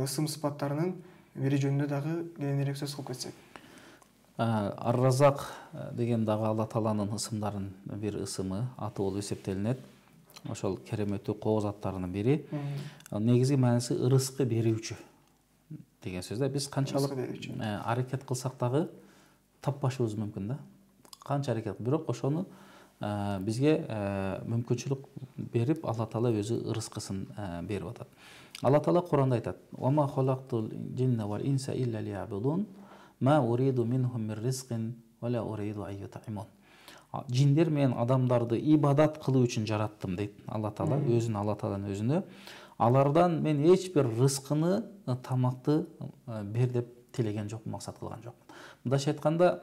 ысым сыпаттарынын бири жөнүндө дагы кененирээк сөз кылып кетсек.
Ар-Разак деген дагы Алла Тааланын ысымдарынын бир ысымы, аты болуп эсептелинет. Ошол кереметтүү кооз аттарынын бири. Негизги мааниси ырыскы берүүчү деген сөз да. Биз канчалык аракет кылсак дагы таппашыбыз мүмкүн да. Канча аракет, бирок ошону бизге мүмкүнчүлүк берип, Алла Таала өзү ырыскысын берип атат. Алла Таала Куранда айтат: "Ва ма халактул джинна вал инса илля лиябудун, ма уриду минхум мир ризкин ва ла уриду ан ют'имун." Жиндер менен адамдарды ибадат кылуу үчүн жараттым дейт Алла Таала, өзүн Алла Тааланын өзүнө. Алардан мен эч бир рызкыны, тамакты бер деп тилеген жокмун, максат кылган жокмун. Мындайча айтканда,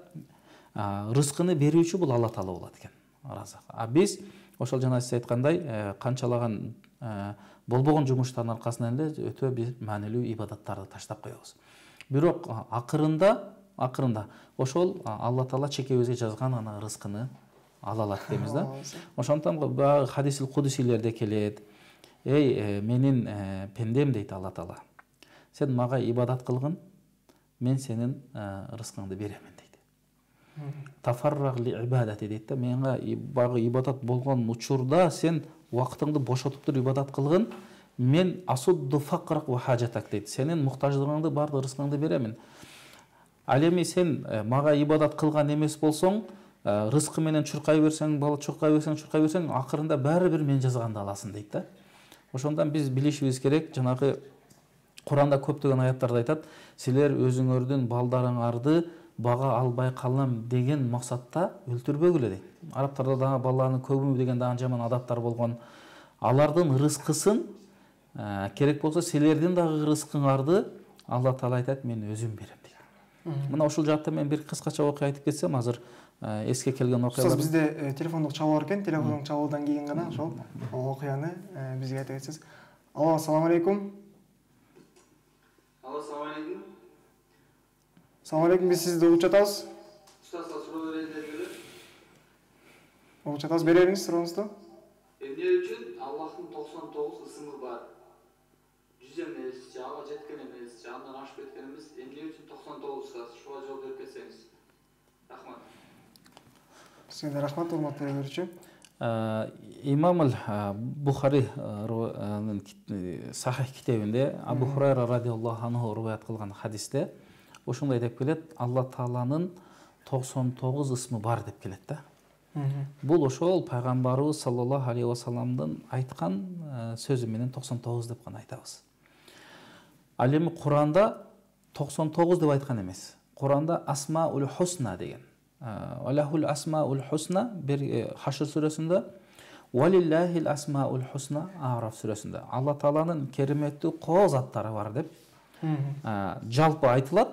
рызкыны берүүчү бул Алла Таала болот экен, Разак. Биз ошол жана сиз айткандай канчалаган болбогон жумуштардын аркасынан эле өтө бир маанилүү ибадаттарды таштап коебуз. Бирок акырында ошол Алла Таала чекебизге жазган ана рызкыны ала алат дейбиз да. Ошондон баягы хадисил кудусилерде келет: "Эй, менин пендем" дейт Алла Таала. "Сен мага ибадат кылгын, мен сенин рызкыңды беремин" дейт. Тафарраг ли ибадати дейт да. Менга баягы ибадат болгон учурда сен убактыңды бошотуп туруп ибадат кылгын, мен асудду факрак ва хажатак дейт. Сенин муктаждыгыңды, бардык рызкыңды беремин. Ал эми сен мага ибадат кылган эмес болсоң, рызкы менен чуркай берсең, чуркай берсең, акырында баары бир мен жазганды аласың дейт да. Ошондон биз билишибиз керек, жанагы Куранда көптөгөн аяттарда айтат: "Силер өзүңөрдүн балдарыңарды бага албай калам" деген максатта өлтүрбөгүлө дейт. Арабтарда дагы баланын көбүмү деген дагы жаман адаттар болгон. Алардын рызкысын керек болсо силердин дагы рызкыңарды Алла Таала айтат: "Мен өзүм берем" дейт. Мына ушул жаатта мен бир кыскача окуя айтып кетсем, азыр эске келген окуялар.
Бизде телефондук чалуу бар экен, телефондук чалуудан кийин гана ошол окуяны бизге айта кетсеңиз. Алло, ассаламу алейкум.
Алло, салам алейкум.
Салам алейкум, биз сизди угуп жатабыз.
Устазга суроо берейин деп эле.
Угуп жатабыз, бере бериңиз сурооңузду.
Эмне үчүн Аллахтын 99 ысымы бар? 100 эмес, же ага жеткен эмес, же андан ашып кеткен эмес, эмне үчүн 99 устаз? Шуга жооп берип кетсеңиз. Рахмат.
Сизге да рахмат, урматтуу көрүүчү.
Имам Бухаринын Сахих китебинде Абу Хурайра радиаллаху анху риваят кылган хадисте ошондой деп келет: Алла Тааланын 99 ысмы бар деп келет да. Бул ошол пайгамбарыбыз саллаллаху алейхи ва салламдын айткан сөзү менен 99 деп гана айтабыз. Ал эми Куранда 99 деп айткан эмес. Куранда Асмаул Хусна деген. Аллахул Асмаул Хусна бир Хашр сүрөсүндө, Валиллахил Асмаул Хусна Араф сүрөсүндө. Алла Тааланын кереметтүү кооз аттары бар деп жалпы айтылат.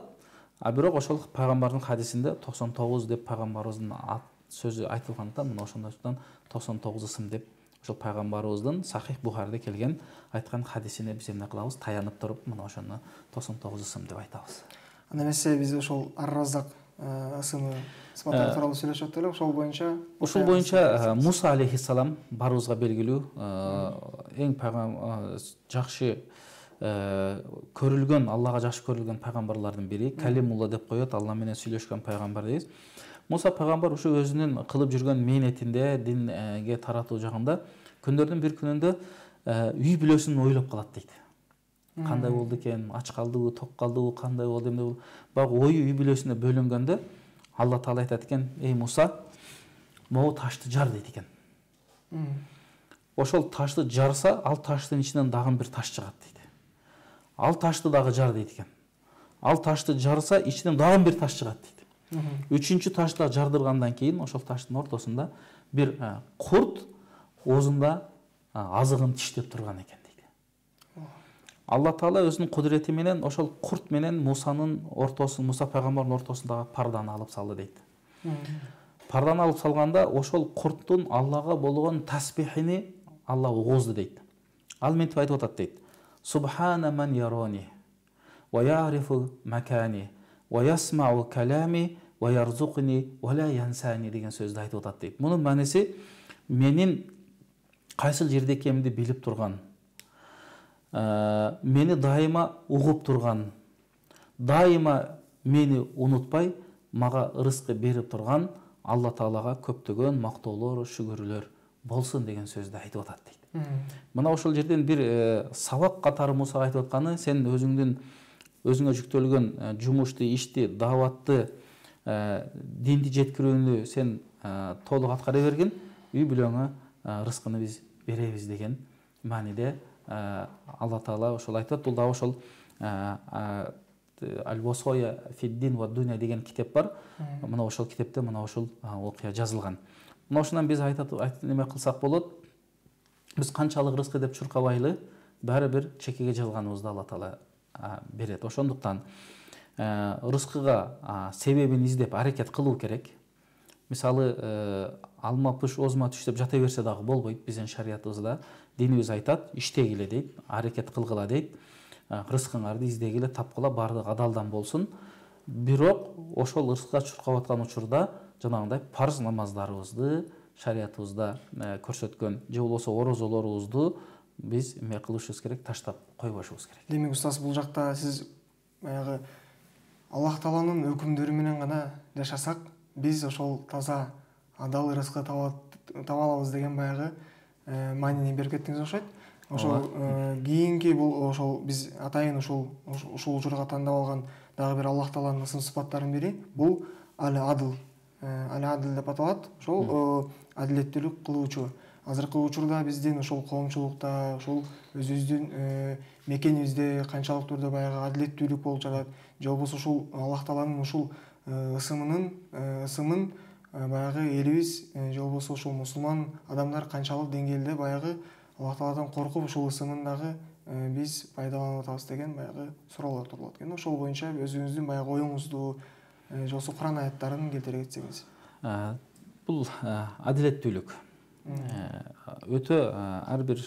Бирок ошол пайгамбардын хадисинде 99 деп пайгамбарыбыздын сөзү айтылгандыктан мына ошондон 99 ысым деп ошол пайгамбарыбыздын Сахих Бухариде келген айткан хадисине биз эмне кылабыз? Таянып туруп, мына ошону 99 ысым деп айтабыз.
Анда эмесе биз ошол Ар-Разак ысымы сыпаттары тууралуу сүйлөшүп атып эле, ошол боюнча Муса алейхиссалам баарыбызга белгилүү эң жакшы көрүлгөн, Аллага жакшы көрүлгөн пайгамбарлардын бири, Калимулла деп коет, Алла менен сүйлөшкөн пайгамбар дейбиз. Муса пайгамбар ушу өзүнүн кылып жүргөн мээнетинде, динге таратуу жагында күндөрдүн бир күнүндө үй бүлөсүн ойлоп калат дейт. Кандай болду экен, ач калдыбы, ток калдыбы, кандай болду, эмне болду? Бак ою үй бүлөсүнө бөлүнгөндө Алла Таала айтат экен: "Эй Муса, могу ташты жар" дейт экен. Ошол ташты жарса, ал таштын ичинен дагы бир таш чыгат дейт. Ал ташты дагы жар дейт экен. Ал ташты жарса, ичинен дагы бир таш чыгат дейт. Үчүнчү ташты жардыргандан кийин ошол таштын ортосунда бир курт оозунда азыгын тиштеп турган экен дейт. Алла Таала өзүнүн кудурети менен ошол курт менен Мусанын ортосун, Муса пайгамбардын ортосундагы парданы алып салды дейт. Парданы алып салганда ошол курттун Аллага болгон тасбихини Алла угузду дейт. Ал мынтип айтып атат дейт: "Субхана ман ярони ва ярифу макани ва ясмау калами ва ярзукни ва ла янсани" деген сөздү айтып атат дейт. Мунун мааниси менин кайсыл жерде экенимди билип турган, мени дайыма угуп турган, дайыма мени унутпай,
мага ырыскы берип турган Алла Таалага көптөгөн мактоолор, шүгүрлөр болсун деген сөздү айтып атат дейт. Мына ошол жерден бир сабак катары Мусага айтып атканы, сен өзүңө жүктөлгөн жумушту, ишти, дааватты, динди жеткирүүнү сен толук аткара бергин, үй бүлөңө рызкыны биз беребиз деген мааниде Алла Таала ошол айтат. Бул дагы ошол Аль-Восоя фиддин ва дуня деген китеп бар. Мына ошол китепте мына ошол окуя жазылган. Мына ошондон биз неме кылсак болот. Биз канчалык рызкы деп чуркабайлы, баары бир чекеге жазылганыбызды Алла Таала берет. Ошондуктан рызкыга себебин издеп аракет кылуу керек. Мисалы, алма пыш, озма түш деп жата берсе дагы болбойт. Биздин шариятыбызда динибиз айтат, иштегиле дейт, аракет кылгыла дейт. Рызкыңарды издегиле, тапкыла, баардыгы адалдан болсун. Бирок ошол рызкыга чуркап аткан учурда жанагындай парз намаздарыбызды шариятыбызда көрсөткөн же болбосо орозолорубузду биз эме кылышыбыз керек, таштап койбошубуз керек.
Демек устаз, бул жакта сиз баягы Аллах Тааланын өкүмдөрү менен гана жашасак, биз ошол таза адал рызкы таба алабыз деген баягы маанини берип кеттиңиз окшойт. Ошол кийинки бул ошол биз атайын ушул учурга тандап алган дагы бир Аллах Тааланын ысым сыпаттарынын бири бул Аль-Адл деп аталат. Ошол адилеттүүлүк кылуучу. Азыркы учурда биздин ошол коомчулукта, ошол өзүбүздүн мекенибизде канчалык түрдө баягы адилеттүүлүк болуп жатат, же болбосо ушул Аллах Тааланын ушул ысымын баягы элибиз же болбосо ушул мусулман адамдар канчалык деңгээлде баягы Аллах Тааладан коркуп ушул ысымын дагы биз пайдаланып атабыз деген баягы суроолор турулат экен. Ошол боюнча өзүңүздүн баягы оюңузду же болбосо Куран аяттарын келтире кетсеңиз.
Бул адилеттүүлүк өтө ар бир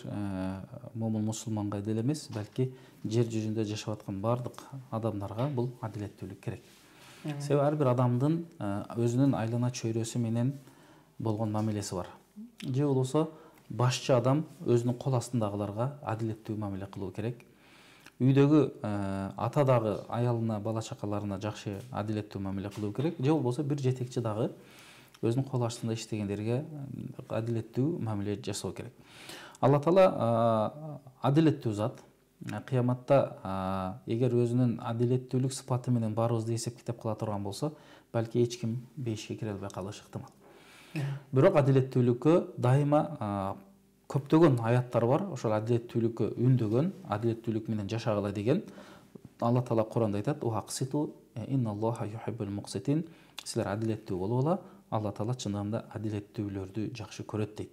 момун мусулманга деле эмес, балки жер жүзүндө жашап аткан баардык адамдарга бул адилеттүүлүк керек. Себеби ар бир адамдын өзүнүн айлана чөйрөсү менен болгон мамилеси бар. Же болбосо башчы адам өзүнүн кол астындагыларга адилеттүү мамиле кылуу керек. Үйдөгү ата дагы аялына, бала чакаларына жакшы адилеттүү мамиле кылуу керек. Же болбосо бир жетекчи дагы өзүнүн кол астында иштегендерге адилеттүү мамиле жасоо керек. Алла Таала адилеттүү зат. Кыяматта эгер өзүнүн адилеттүүлүк сыпаты менен баарыбызды эсеп китеп кыла турган болсо, балки эч ким бейишке кире албай калышы ыктымал. Бирок адилеттүүлүккө дайыма көптөгөн аяттар бар. Ошол адилеттүүлүккө үндөгөн, адилеттүүлүк менен жашагыла деген. Алла Таала Куранда айтат: "Уақситу инналлаха юхиббул муқситин." Силер адилеттүү болгула, Алла Таала чындыгында адилеттүүлөрдү жакшы көрөт дейт.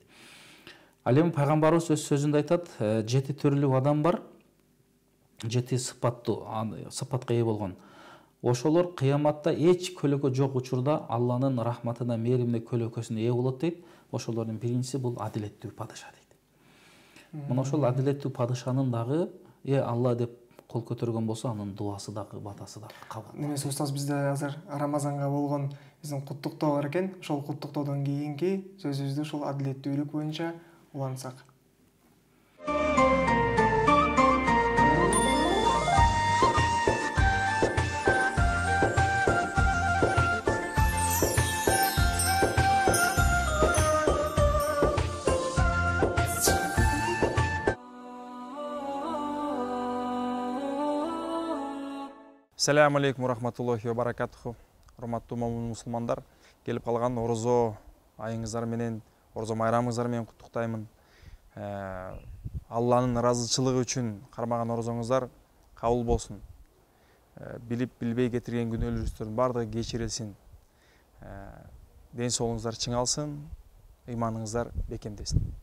Ал эми пайгамбарыбыз өз сөзүндө айтат: 7 түрлүү адам бар. 7 сыпатка ээ болгон. Ошолор кыяматта эч көлөкө жок учурда Алланын рахматына, мээримине, көлөкөсүнө ээ болот дейт. Ошолордун биринчиси бул адилеттүү падыша дейт. Мына ошол адилеттүү падышанын дагы Алла деп кол көтөргөн болсо, анын дуасы дагы, батасы дагы кабыл.
Немесе устаз, бизде азыр Рамазанга болгон биздин куттуктоо бар экен. Ошол куттуктоодон кийинки сөзүбүздү ушул адилеттүүлүк боюнча улантсак.
Ассаламу алейкум рахматуллахи ва баракатуху. Урматтуу момун мусулмандар, келип калган орозо айыңыздар менен, орозо майрамыңыздар менен куттуктаймын. Алланын ыраазычылыгы үчүн кармаган орозоңуздар кабыл болсун. Билип билбей кетирген күнөөлөрүңүздөрдүн баардыгы кечирилсин. Ден соолугуңуздар чыңалсын, ыйманыңыздар бекемдесин.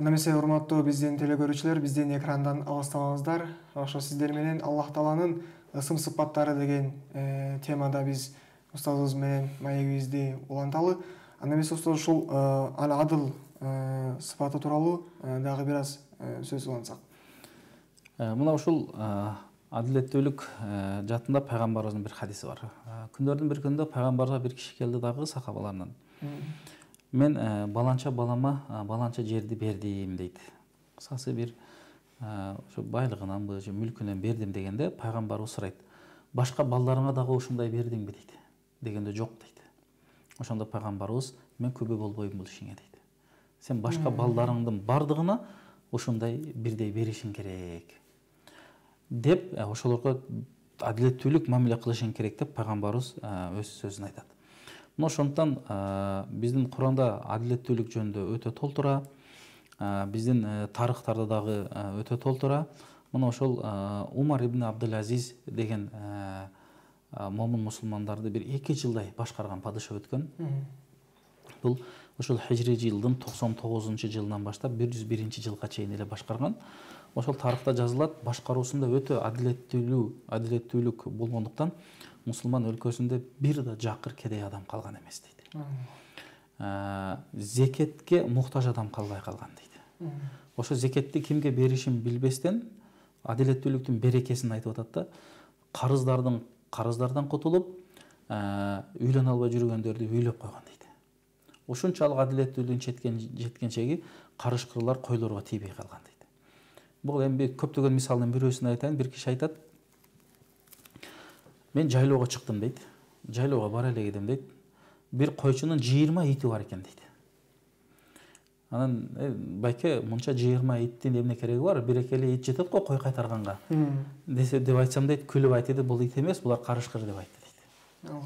Немесе урматтуу биздин телекөрүүчүлөр, биздин экрандан алыстабаңыздар. Ошо сиздер менен Аллах Тааланын ысым сыпаттары деген темада биз устазыбыз менен маегибизди уланталы. Немесе устаз ушул Аль-Адл сыпаты тууралуу дагы бир аз сөз кылансак.
Мына ушул адилеттүүлүк жаатында пайгамбарыбыздын бир хадиси бар. Күндөрдүн бир күнүндө пайгамбарга бир киши келди дагы сахабаларынан. Мен баланча балама баланча жерди бердим дейт. Кысасы бир ошо байлыгынанбы же мүлкүнөн бердим дегенде пайгамбарыбыз сурайт: башка балдарыңа дагы ушундай бердиңби дейт. Дегенде жок дейт. Ошондо пайгамбарыбыз: мен күбө болбойм бул ишиңе дейт. Сен башка балдарыңдын бардыгына ушундай бирдей беришиң керек деп, ошолорго адилеттүүлүк мамиле кылышың керек деп пайгамбарыбыз өз сөзүн айтат. Мына ошондуктан биздин Куранда адилеттүүлүк жөнүндө өтө толтура, биздин тарыхтарда дагы өтө толтура. Мына ошол Умар ибн Абдул-Азиз деген момун мусулмандарды бир 2 жылдай башкарган падыша өткөн. Бул ошол хижри жылдын 99-жылынан баштап 101-жылга чейин эле башкарган. Ошол тарыхта жазылат, башкаруусунда өтө адилеттүүлүк болгондуктан мусулман өлкөсүндө бир да жакыр кедей адам калган эмес дейт. Зекетке муктаж адам калбай калган дейт. Ошо зекетти кимге беришин билбестен адилеттүүлүктүн берекесин айтып атат да, карыздардан кутулуп, үйлөнө албай жүргөндөрдү үйлөп койгон дейт. Ушунчалык адилеттүүлүктүн жеткен чеги карышкырлар койлорго тийбей калган дейт. Бул эми көптөгөн мисалдын бирөөсүн айтайын. Бир киши айтат: мен жайлоого чыктым дейт. Жайлоого бара эле кедим дейт. Бир койчунун 20 ити бар экен дейт. Анан байке, мынча 20 иттин эмне кереги бар? Бир эле ит жетет го кой кайтарганга. Десе деп айтсам дейт, күлүп айтты: бул ит эмес, булар карышкыр деп айтты дейт.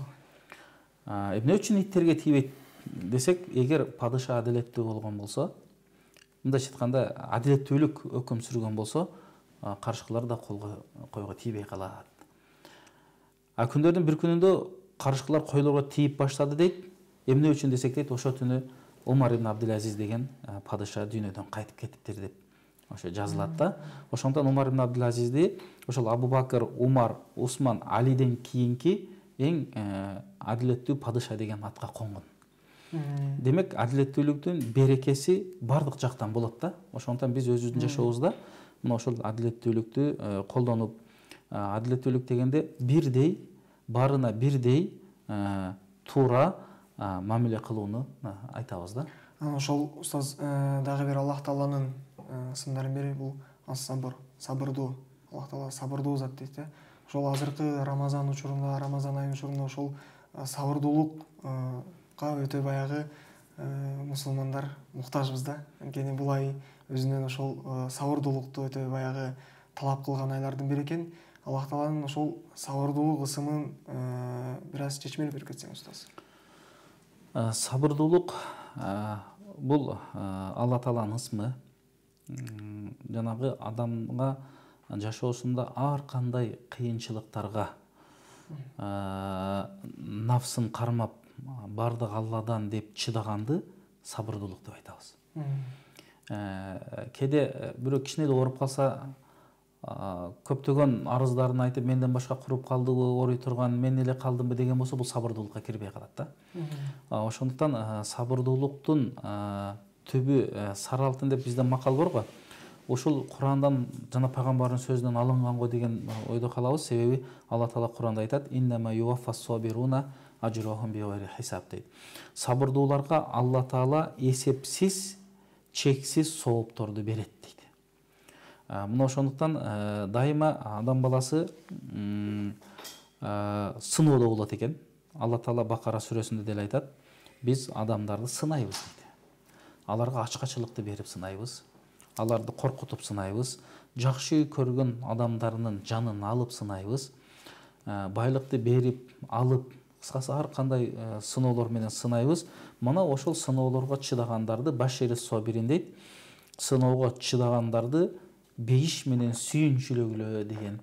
Эмне үчүн иттерге тийбейт десек, эгер падыша адилеттүү болгон болсо, мындайча айтканда адилеттүүлүк өкүм сүргөн болсо, карышкылар да койго тийбей калат. Күндөрдүн бир күнүндө карышкылар койлорго тийип баштады дейт. Эмне үчүн десек дейт, ошо түнү Умар ибн Абдул-Азиз деген падыша дүйнөдөн кайтып кетиптир деп ошо жазылат да. Ошондон Умар ибн Абдул-Азизди ошол Абу Бакыр, Умар, Усман, Алиден кийинки эң адилеттүү падыша деген атка конгон. Демек, адилеттүүлүктүн берекеси бардык жактан болот да. Ошондон биз өзүбүздүн жашообузда мына ошол адилеттүүлүктү колдонуп, адилеттүүлүк дегенде бирдей, баарына бирдей туура мамиле кылууну айтабыз да.
Ошол устаз дагы бир Аллах Тааланын сымдарын бири бул ас-сабр, сабырдуу. Аллах Таала сабырдуу зат дейт. Ошол азыркы Рамазан учурунда, Рамазан айынын учурунда ошол сабырдуулукка өтө баягы мусулмандар муктажбыз да. Анткени бул ай өзүнөн ошол сабырдуулукту өтө баягы талап кылган айлардын бири экен. Аллах Тааланын ошол сабырдуулук ысымын бир аз чечмелеп берип кетсең устаз.
Сабырдуулук бул Алла Тааланын ысмы. Жанагы адамга жашоосунда ар кандай кыйынчылыктарга нафсын кармап бардык Алладан деп чыдаганды сабырдуулук деп айтабыз. Кээде бирөө кичине ооруп калса, көптөгөн арыздарын айтып, менден башка куруп калдыбы, ооруй турган мен эле калдымбы деген болсо, бул сабырдуулукка кирбей калат да. Ошондуктан сабырдуулуктун түбү сары алтын деп бизде макал бар го. Ушул Курандан жана пайгамбардын сөзүнөн алынган го деген ойдо калабыз. Себеби Алла Таала Куранда айтат: «Иннама юваффас сабируна ажрахум бигайри хисаб» дейт. Сабырдууларга Алла Таала эсепсиз, чексиз соопторду берет дейт. Мына ошондуктан дайыма адам баласы сыноодо болот экен. Алла Таала Бакара сүрөсүндө деле айтат: биз адамдарды сынайбыз дейт. Аларга ачкачылыкты берип сынайбыз, аларды коркутуп сынайбыз, жакшы көргөн адамдарынын жанын алып сынайбыз, байлыкты берип алып, кыскасы ар кандай сыноолор менен сынайбыз. Мына ошол сыноолорго чыдагандарды башири собирин дейт. Сыноого чыдагандарды бейиш менен сүйүнчүлөгүлө деген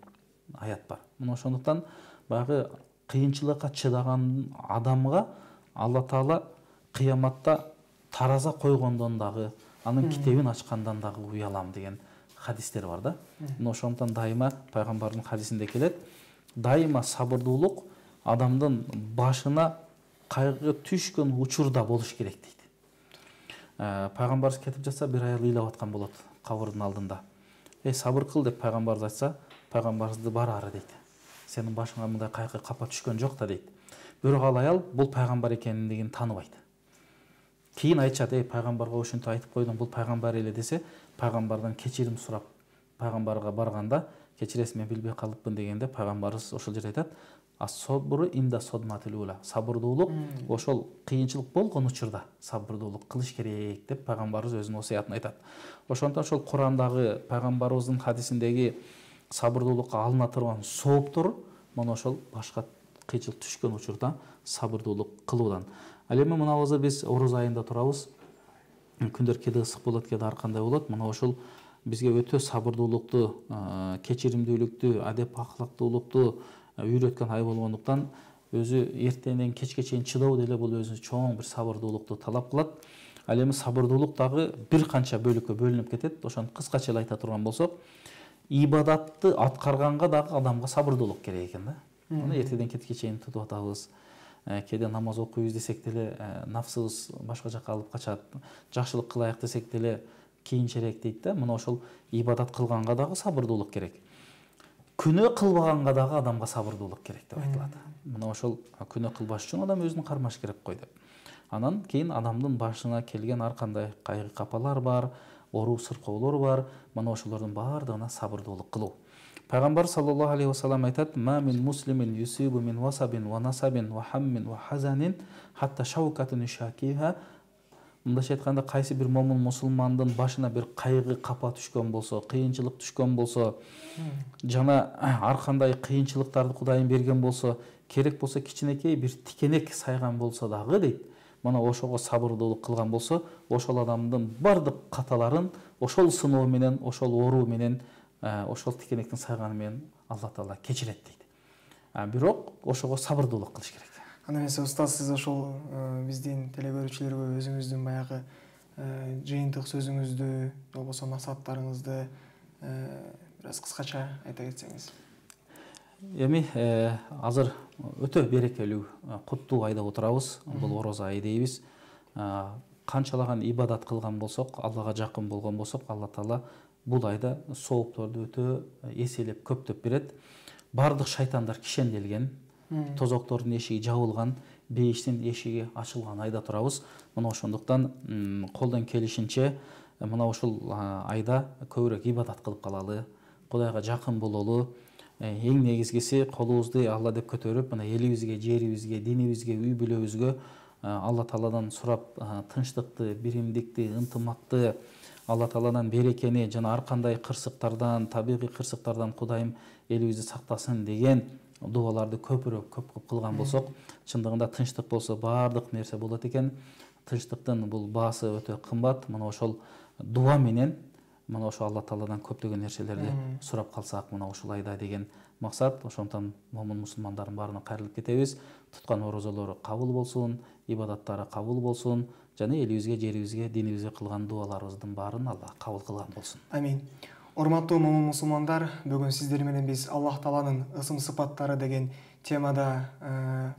аят бар. Мына ошондуктан баягы кыйынчылыкка чыдаган адамга Алла Таала кыяматта тараза койгондон дагы, анын китебин ачкандан дагы уялам деген хадистер бар да. Мына ошондуктан дайыма пайгамбардын хадисинде келет: дайыма сабырдуулук адамдын башына кайгы түшкөн учурда болуш керек дейт. пайгамбарыбыз кетип жатса бир аял ыйлап аткан болот кабырдын алдында. Сабыр кыл деп пайгамбарыбыз айтса, пайгамбарыбызды бар ары дейт. Сенин башыңа мындай кайкы капа түшкөн жок да дейт. Бирок ал аял бул пайгамбар экендигин тааныбайт. Кийин айтышат, пайгамбарга ошентип айтып койдум, бул пайгамбар эле десе, пайгамбардан кечирим сурап пайгамбарга барганда, кечиресиз, мен билбей калыпмын дегенде, пайгамбарыбыз ошол жерде айтат, ас-собру инда содматил ула. Сабырдуулук ошол кыйынчылык болгон учурда сабырдуулук кылыш керек деп пайгамбарыбыз өзүнүн осуятын айтат. Ошондон ошол Курандагы пайгамбарыбыздын хадисиндеги сабырдуулукка алына турган сооптору мына ошол башка кыйынчылык түшкөн учурда сабырдуулук кылуудан. Ал эми мынабызды биз оруз айында турабыз. Күндөр кээде ысык болот, кээде ар кандай болот. Мына ошол бизге өтө сабырдуулукту, кечиримдүүлүктү, адеп ахлактуулукту үйрөткөн ай болгондуктан өзү эртеңден кечке чейин чыдоо деле бул өзү чоң бир сабырдуулукту талап кылат. Ал эми сабырдуулук дагы бир канча бөлүккө бөлүнүп кетет. Ошону кыскача эле айта турган болсок, ибадатты аткарганга дагы адамга сабырдуулук керек экен да. Мына эртеден кечке чейин тутуп атабыз. Кээде намаз окуйбуз десек деле нафсыбыз башка жакка алып качат. Жакшылык кылайык десек деле кийинчерээк дейт да. Мына ошол ибадат кылганга дагы сабырдуулук керек. Күнөө кылбаганга дагы адамга сабырдуулук керек деп айтылат. Мына ошол күнөө кылбаш үчүн адам өзүн кармаш керек кой деп. Анан кийин адамдын башына келген ар кандай кайгы капалар бар, оруу сыркоолор бар. Мына ошолордун баардыгына сабырдуулук кылуу. Пайгамбар саллаллаху алейхи вассалам айтат: "Ма мин муслимин юсибу мин васабин ва насабин ва хаммин ва хазанин хатта шаукатун шакиха". Мындайча айтканда, кайсы бир момун мусулмандын башына бир кайгы капа түшкөн болсо, кыйынчылык түшкөн болсо, жана ар кандай кыйынчылыктарды Кудайым берген болсо, керек болсо кичинекей бир тикенек сайган болсо дагы дейт, мына ошого сабырдуулук кылган болсо, ошол адамдын бардык каталарын ошол сыноо менен, ошол оору менен, ошол тикенектин сайганы менен Алла Таала кечирет дейт. Бирок ошого сабырдуулук кылыш керек.
Анда эмесе устаз, сиз ошол биздин телегөрүүчүлөргө өзүңүздүн баягы жыйынтык сөзүңүздү, болбосо максаттарыңызды бир аз кыскача айта кетсеңиз.
Эми азыр өтө берекелүү, куттуу айда отурабыз. Бул оруз айы дейбиз. Канчалаган ибадат кылган болсок, Аллага жакын болгон болсок, Алла Таала бул айда соопторду өтө эселеп көптөп берет. Бардык шайтандар кишенделген, тозоктордун эшиги жабылган, бейиштин эшиги ачылган айда турабыз. Мына ошондуктан колдон келишинче мына ушул айда көбүрөөк ибадат кылып калалы, Кудайга жакын бололу. Эң негизгиси колубузду Алла деп көтөрүп, мына элибизге, жерибизге, динибизге, үй бүлөбүзгө Алла Тааладан сурап, тынчтыкты, биримдикти, ынтымакты, Алла Тааладан берекени жана ар кандай кырсыктардан, табигый кырсыктардан Кудайым элибизди сактасын деген дуаларды көпүрөөк көп кылган болсок, чындыгында тынчтык болсо баардык нерсе болот экен. Тынчтыктын бул баасы өтө кымбат. Мына ошол дуа менен, мына ошол Алла Тааладан көптөгөн нерселерди сурап калсак, мына ушул айда деген максат. Ошондон момун мусулмандардын баарына кайрылып кетебиз. Туткан орозолору кабыл болсун, ибадаттары кабыл болсун, жана элибизге, жерибизге, динибизге кылган дуаларыбыздын баарын Алла кабыл кылган болсун.
Амин. Урматтуу момун мусулмандар, бүгүн сиздер менен биз Аллах Тааланын ысым сыпаттары деген темада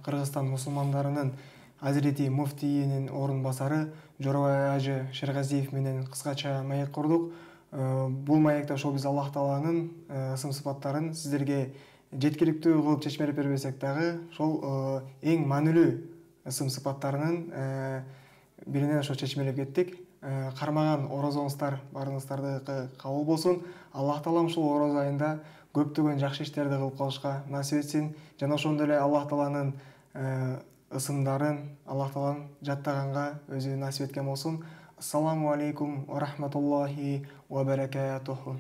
Кыргызстан мусулмандарынын Азирети муфтийинин орун басары Жоробай Ажы Шергазиев менен кыскача маек курдук. Бул маекте ошол биз Аллах Тааланын ысым сыпаттарын сиздерге жеткиликтүү кылып чечмелеп бербесек дагы, ошол эң маанилүү ысым сыпаттарынын биринен ошо чечмелеп кеттик. Кармаган орозоңуздар баарыңыздардыкы кабыл болсун. Аллах Таалам ушул ороз айында көптөгөн жакшы иштерди кылып калышка насип этсин. Жана ошондой эле Аллах Тааланын ысымдарын Аллах Таалам жаттаганга өзү насип эткен болсун. Ассаламу алейкум ва рахматуллахи ва баракатуху.